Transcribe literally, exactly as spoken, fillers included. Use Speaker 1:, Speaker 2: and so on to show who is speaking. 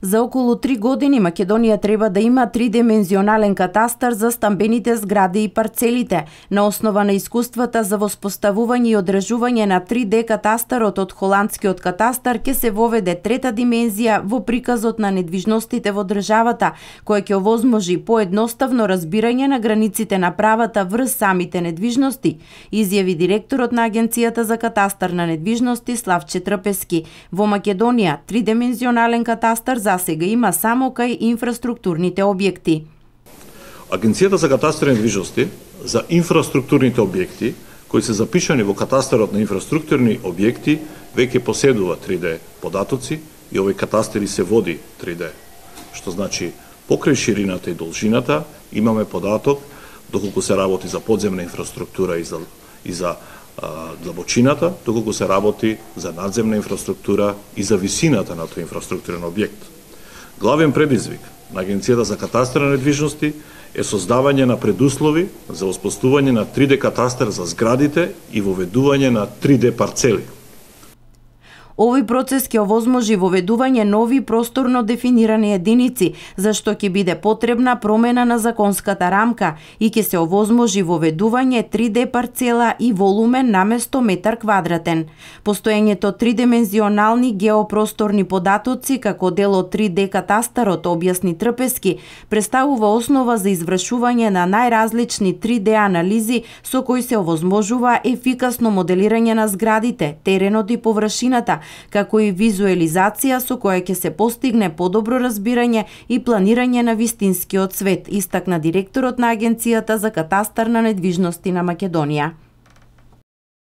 Speaker 1: За околу три години Македонија треба да има тридимензионален катастар за стамбените згради и парцелите. На основа на искуствата за воспоставување и одржување на три де катастарот од холандскиот катастар ќе се воведе трета димензија во приказот на недвижностите во државата, која ќе овозможи поедноставно разбирање на границите на правата врз самите недвижности, изјави директорот на Агенцијата за катастар на недвижности Славче Трпески. Во Македонија тридимензионален катастар за сега има само кај инфраструктурните објекти.
Speaker 2: Агенцијата за катастар на недвижности за инфраструктурните објекти кои се запишани во катастарот на инфраструктурни објекти веќе поседува три де податоци и овој катастар се води три де. Што значи покрај ширината и должината имаме податок доколку се работи за подземна инфраструктура и за и за длабочината, доколку се работи за надземна инфраструктура и за висината на тој инфраструктурен објект. Главен предизвик на Агенцијата за катастар на недвижности е создавање на предуслови за воспоставување на три де катастар за зградите и воведување на три де парцели.
Speaker 1: Овој процес ќе овозможи воведување нови просторно дефинирани единици, зашто ќе биде потребна промена на законската рамка и ќе се овозможи воведување три де парцела и волумен наместо метар квадратен. Постоењето тридимензионални геопросторни податоци како дел од три де катастарот, објасни Трпески, представува основа за извршување на најразлични три де анализи со кои се овозможува ефикасно моделирање на зградите, теренот и површината, како и визуелизација со која ќе се постигне подобро разбирање и планирање на вистинскиот свет, истакна директорот на Агенцијата за катастар на недвижности на Македонија.